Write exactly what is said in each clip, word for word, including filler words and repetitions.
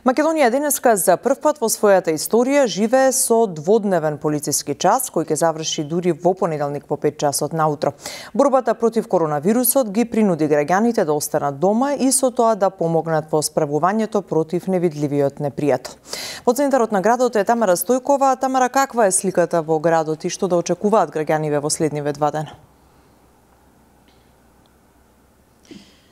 Македонија денеска за прв пат во својата историја живее со дводневен полициски час, кој ќе заврши дури во понеделник по пет часот наутро. Борбата против коронавирусот ги принуди граѓаните да останат дома и со тоа да помогнат во справувањето против невидливиот непријател. Во центарот на градот е Тамара Стојкова. Тамара, каква е сликата во градот и што да очекуваат граѓаниве во следниве два дена?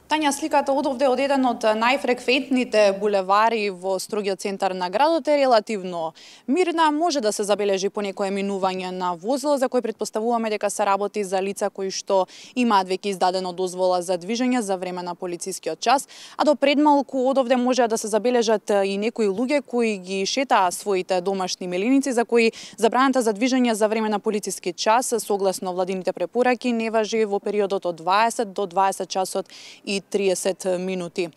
Тања, сликата одовде од еден од најфреквентните булевари во строгиот центар на градот е релативно мирна. Може да се забележи понекое минување на возило за кој претпоставуваме дека се работи за лица кои што имаат веќе издадено дозвола за движење за време на полицискиот час, а до предмалку одовде може да се забележат и некои луѓе кои ги шетаа своите домашни меленици за кои забраната за движење за време на полициски час согласно владините препораки не важи во периодот од дваесет до дваесет часот и триесет минути.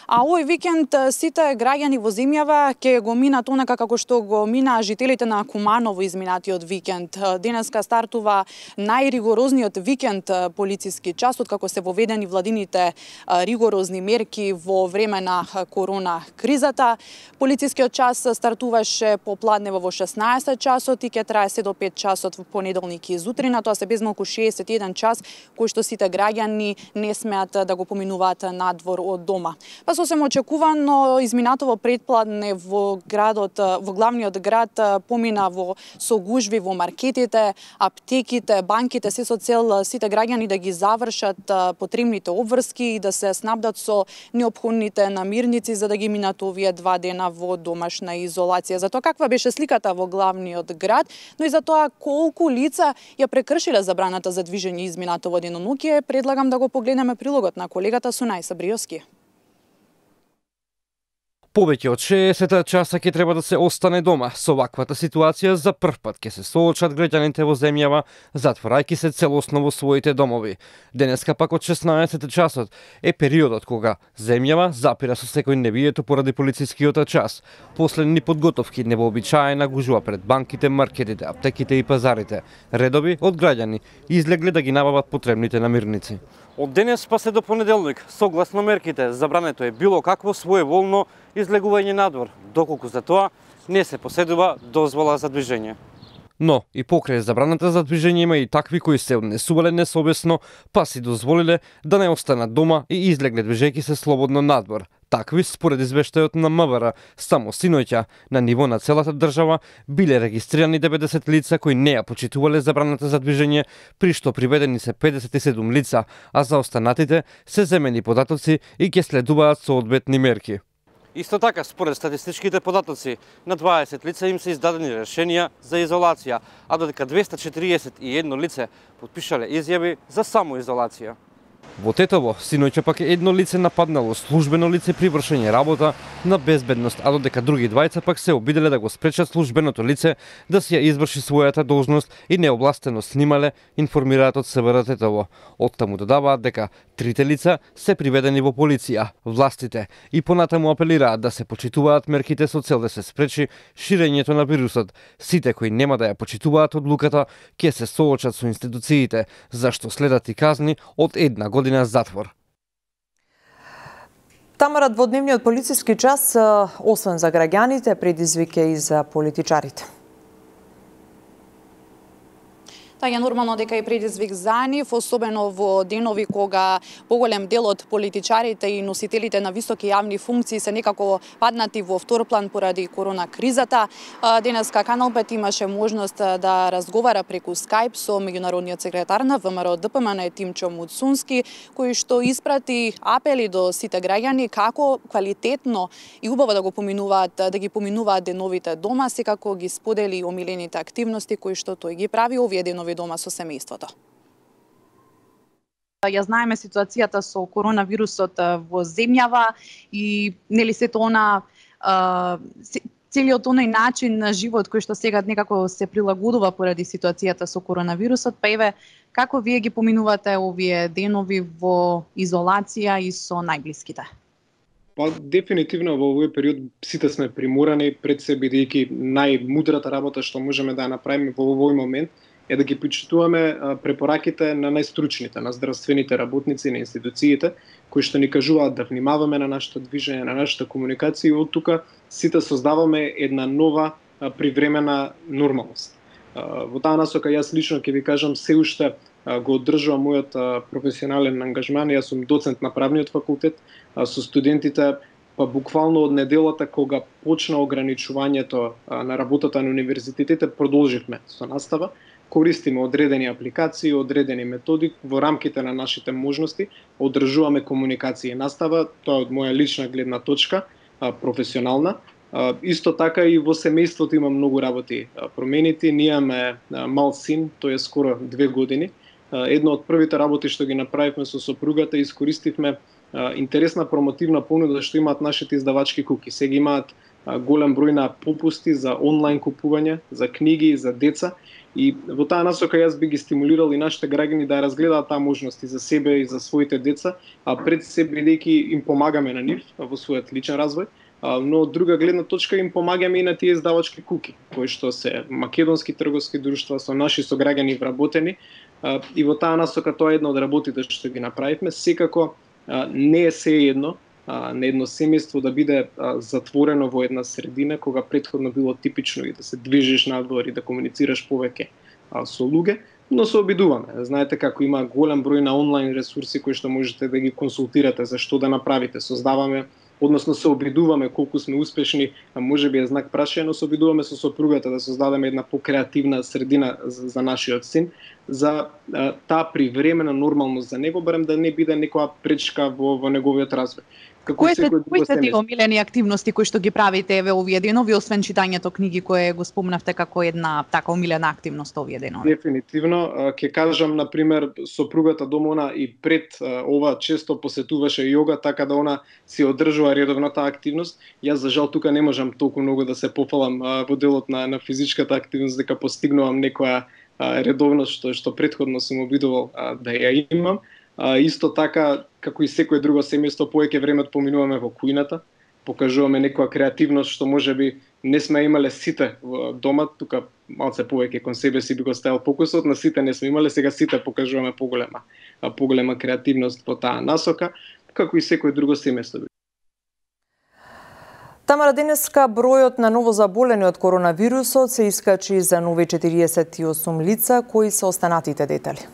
А овој викенд сите граѓани во земјава ќе го минат онака како што го минаа жителите на Куманово изминатиот викенд. Денеска стартува најригорозниот викенд полициски час откако се воведени владините ригорозни мерки во време на корона кризата. Полицискиот час стартуваше попладнево во шеснаесет часот и ќе трае се до пет часот во понеделник и зутрина. Тоа се безмалку шеесет и еден час кој што сите граѓани не смеат да го поминуваат надвор од дома. Па сосем очекувано изминатово предпладне во градот, во главниот град помина во со гужви во маркетите, аптеките, банките, се со цел сите граѓани да ги завршат потребните обврски и да се снабдат со неопходните намирници за да ги минат овие два дена во домашна изолација. За тоа каква беше сликата во главниот град, но и за тоа колку лица ја прекршиле забраната за движење изминатово деноноќе, предлагам да го погледнеме прилогот на колегата Сунај Сабриовски. Повеќе од шеесет часа ќе треба да се остане дома. Со ваквата ситуација за прв пат ќе се соочат граѓаните во земјава, затворајќи се целосно во своите домови. Денеска пак од шеснаесет часот е периодот кога земјава запира со секој невието поради полицискиот час. Последни подготовки невообичаена гужва пред банките, маркетите, аптеките и пазарите. Редови од граѓани излегле да ги набават потребните намирници. Од денес па се до понеделник, согласно мерките, забрането е било какво своеволно излегување надвор, доколку за тоа не се поседува дозвола за движење. Но и покрај забраната за движење има и такви кои се однесувале несовесно, па си дозволиле да не останат дома и излегле движејќи се слободно надвор. Такви, според извештајот на МВР, само синоќа на ниво на целата држава биле регистрирани деветдесет лица кои не ја почитувале забраната за движење, при што приведени се педесет и седум лица, а за останатите се земени податоци и ќе следуваат соодветни мерки. Исто така, според статистичките податоци, на дваесет лица им се издадени решенија за изолација, а додека двесте четириесет и едно лице потпишале изјави за самоизолација. Во Тетово, синоќа пак едно лице нападнало службено лице при вршење работа на безбедност, а додека други двајца пак се обиделе да го спречат службеното лице да си ја изврши својата должност и необластено снимале, информираат од СВР Тетово. Оттаму додаваат дека трите лица се приведени во полиција, властите и понатаму апелираат да се почитуваат мерките со цел да се спречи ширењето на вирусот. Сите кои нема да ја почитуваат одлуката ќе се соочат со институциите, зашто следат и казни од една година затвор. Тамара, дводневниот полициски час, освен за граѓаните, предизвик е и за политичарите. Тај е нормално дека и предизвик за нив, особено во денови кога поголем дел од политичарите и носителите на високи јавни функции се некако паднати во втор план поради корона кризата. Денеска Канал пет имаше можност да разговара преку Скајп со меѓународниот секретар на ВМРО Д П М Н Тимчо Муцунски, кој што испрати апели до сите граѓани како квалитетно и убаво да го поминуваат, да ги поминуваат деновите дома, секако ги сподели омилените активности кои што тој ги прави овие денови дома со семејството. Ја знаеме ситуацијата со коронавирусот во земјава и нели сето она целиот оној начин на живот кој што сега некако се прилагодува поради ситуацијата со коронавирусот, па еве како вие ги поминувате овие денови во изолација и со најблиските? Па дефинитивно во овој период сите сме приморани, пред се бидејќи најмудрата работа што можеме да ја направиме во овој момент е да ги почитуваме препораките на најстручните, на здравствените работници, на институциите, кои што ни кажуваат да внимаваме на нашето движење, на нашата комуникација и од тука сите создаваме една нова привремена нормалност. Во таа насока јас лично ќе ви кажам се уште го одржувам мојот професионален ангажман. Јас сум доцент на правниот факултет, со студентите па буквално од неделата кога почна ограничувањето на работата на универзитетите продолживме со настава. Користиме одредени апликации, одредени методи во рамките на нашите можности, одржуваме комуникација и настава, тоа е од моја лична гледна точка, професионална. Исто така и во семејството има многу работи променити. Ние имаме мал син, тој е скоро две години. Едно од првите работи што ги направивме со сопругата, искористивме интересна промотивна понуда што имаат нашите издавачки куки. Сега имаат голем број на попусти за онлайн купување, за книги, за деца. И во таа насока јас би ги стимулирал и нашите граѓани да разгледаат таа можност и за себе и за своите деца, а пред се бидејќи им помагаме на нив во својот личен развој, но од друга гледна точка им помагаме и на тие издавачки куки, кои што се македонски трговски друштва со наши сограѓани вработени, и во таа насока тоа е една од работите што ги направивме. Секако не е се едно на едно семејство да биде затворено во една средина, кога претходно било типично и да се движиш надвор и да комуницираш повеќе со луѓе, но се обидуваме. Знаете како има голем број на онлайн ресурси кои што можете да ги консултирате за што да направите. Создаваме, односно се обидуваме колку сме успешни, можеби е знак прашање, но се обидуваме со сопругата да создадеме една покреативна средина за, за нашиот син, за а, таа привремена нормалност за него, барем да не биде некоја пречка во, во неговиот развој. Кои се кои се тие омилени активности кои што ги правите еве овие денови, освен читањето книги кое го спомнавте како една така омилена активност овие денови? Дефинитивно, ќе кажам на пример сопругата дома, она и пред ова често посетуваше јога, така да она си одржува редовно таа активност. Јас за жал тука не можам толку многу да се пофалам во делот на на физичката активност дека постигнувам некоја редовност што што претходно сум обидувал да ја имам. А, исто така, како и секое друго семејство, повеќе време поминуваме во кујната, покажуваме некоја креативност што можеби не сме имале сите во дома, тука малце повеќе кон себе си би го ставил фокусот, на сите не сме имале, сега сите покажуваме поголема, поголема креативност во таа насока, како и секое друго семејство. Тамара, денеска бројот на новозаболени од коронавирусот се искачи за нови четириесет и осум лица, кои се останатите детали.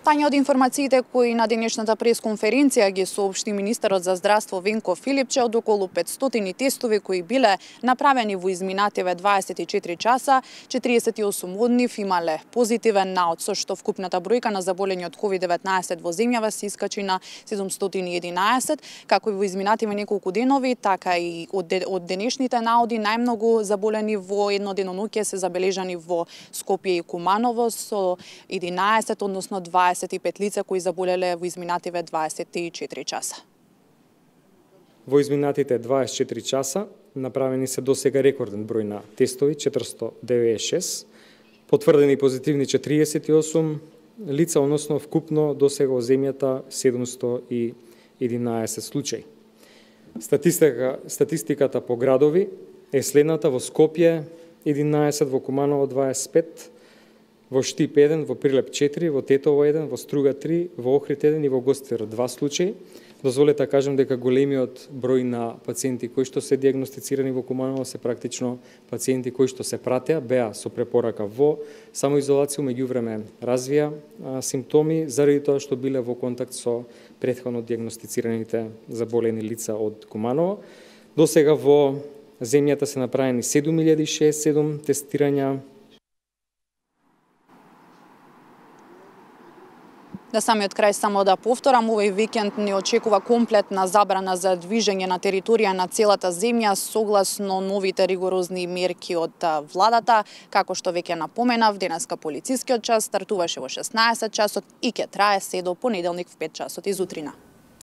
Тања, од информациите кои на денешната пресконференција ги соопшти министерот за здравство Венко Филипче, од околу петстотини тестови кои биле направени во изминативе дваесет и четири часа, четириесет и осум од нив имале позитивен наод, со што вкупната бројка на заболени од ковид деветнаесет во земјава се искачи на седумстотини и единаесет, како и во изминативе неколку денови, така и од, де, од денешните наоди најмногу заболени во едно деноноќе се забележани во Скопје и Куманово со единаесет, односно дваесет и пет лица кои заболеле во изминативе дваесет и четири часа. Во изминатите дваесет и четири часа направени се досега рекорден број на тестови, четиристотини деветдесет и шест, потврдени позитивни четириесет и осум лица, односно вкупно досега во земјата седумстотини и единаесет случаи. Статистика, статистиката по градови е следната: во Скопје единаесет, во Куманово дваесет и пет, во Штип еден, во Прилеп четири, во Тетово еден, во Струга три, во Охрид еден и во Гостивар два случаи. Дозволете да кажам дека големиот број на пациенти кои што се диагностицирани во Куманово се практично пациенти кои што се пратеа, беа со препорака во самоизолација, меѓувреме развија а, симптоми заради тоа што биле во контакт со претходно диагностицираните заболени лица од Куманово. Досега во земјата се направени седум илјади шеесет и седум тестирања. Да самиот крај само да повторам, овој викенд ни очекува комплетна забрана за движење на територија на целата земја согласно новите ригорозни мерки од владата. Како што веќе напоменав, денеска полицискиот час стартуваше во шеснаесет часот и ќе трае се до понеделник в пет часот изутрина.